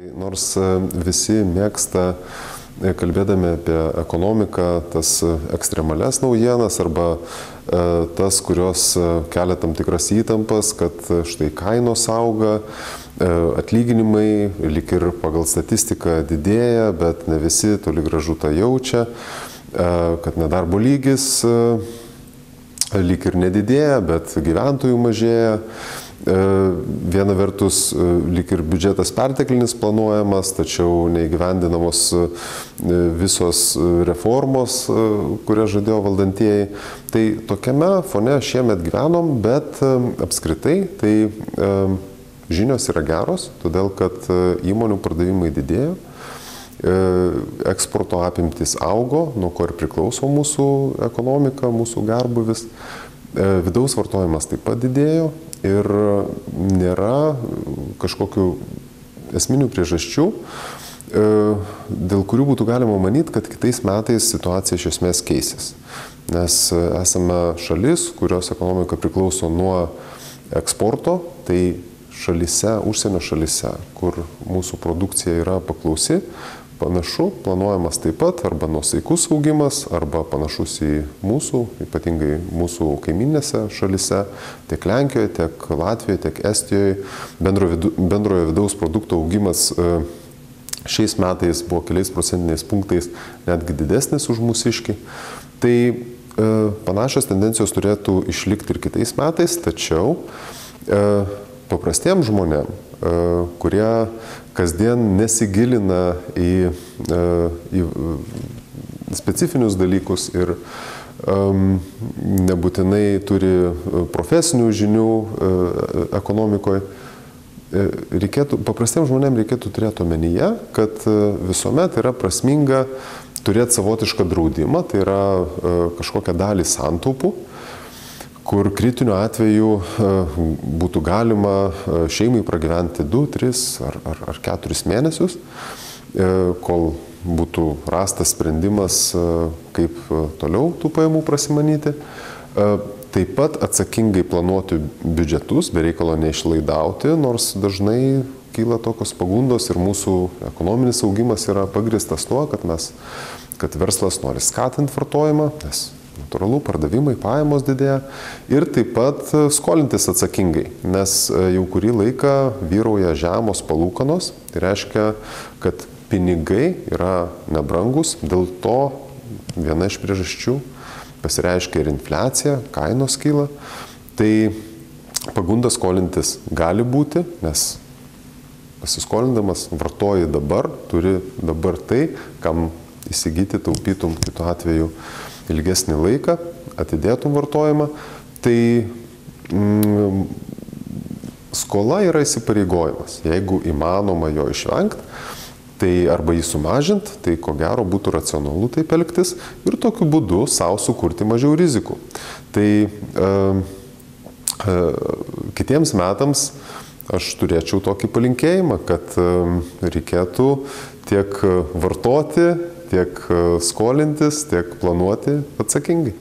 Nors visi mėgsta, kalbėdami apie ekonomiką, tas ekstremales naujienas arba tas, kurios kelia tam tikras įtampas, kad štai kainos auga, atlyginimai lyg ir pagal statistiką didėja, bet ne visi toli gražu tą jaučia, kad nedarbo lygis lyg ir nedidėja, bet gyventojų mažėja. Viena vertus lyg ir biudžetas perteklinis planuojamas, tačiau neįgyvendinamos visos reformos, kurias žadėjo valdantieji. Tai tokiame fone šiemet gyvenom, bet apskritai tai žinios yra geros, todėl kad įmonių pardavimai didėjo, eksporto apimtis augo, nuo ko ir priklauso mūsų ekonomika, mūsų gerbūvis. Vidaus vartojimas taip pat didėjo ir nėra kažkokių esminių priežasčių, dėl kurių būtų galima manyti, kad kitais metais situacija iš esmės keisis. Nes esame šalis, kurios ekonomika priklauso nuo eksporto, tai šalise, užsienio šalise, kur mūsų produkcija yra paklausi, panašu, planuojamas taip pat arba nuosaikus augimas, arba panašus į mūsų, ypatingai mūsų kaiminėse šalise, tiek Lenkijoje, tiek Latvijoje, tiek Estijoje. Bendrojo vidaus produkto augimas šiais metais buvo keliais procentiniais punktais netgi didesnis už mūsiškį. Tai panašios tendencijos turėtų išlikti ir kitais metais, tačiau paprastiems žmonėms, kurie kasdien nesigilina į specifinius dalykus ir nebūtinai turi profesinių žinių ekonomikoje, paprastiems žmonėms reikėtų turėti omenyje, kad visuomet yra prasminga turėti savotišką draudimą, tai yra kažkokią dalį santaupų, kur kritiniu atveju būtų galima šeimai pragyventi 2, 3 ar 4 mėnesius, kol būtų rastas sprendimas, kaip toliau tų pajamų prasimanyti. Taip pat atsakingai planuoti biudžetus, be reikalo neišlaidauti, nors dažnai kyla tokios pagundos ir mūsų ekonominis augimas yra pagrįstas tuo, kad verslas nori skatinti vartojimą, nes natūralu, pardavimai, pajamos didėja ir taip pat skolintis atsakingai, nes jau kurį laiką vyrauja žemos palūkanos, tai reiškia, kad pinigai yra nebrangus, dėl to viena iš priežasčių pasireiškia ir infliacija, kainos kyla, tai pagunda skolintis gali būti, nes pasiskolindamas vartoji dabar, turi dabar tai, kam įsigyti, taupytum kitu atveju ilgesnį laiką, atidėtum vartojimą, tai skola yra įsipareigojimas. Jeigu įmanoma jo išvengti, tai arba jį sumažinti, tai ko gero būtų racionalu taip elgtis ir tokiu būdu savo sukurti mažiau rizikų. Tai kitiems metams aš turėčiau tokį palinkėjimą, kad reikėtų tiek vartoti, tiek skolintis, tiek planuoti atsakingai.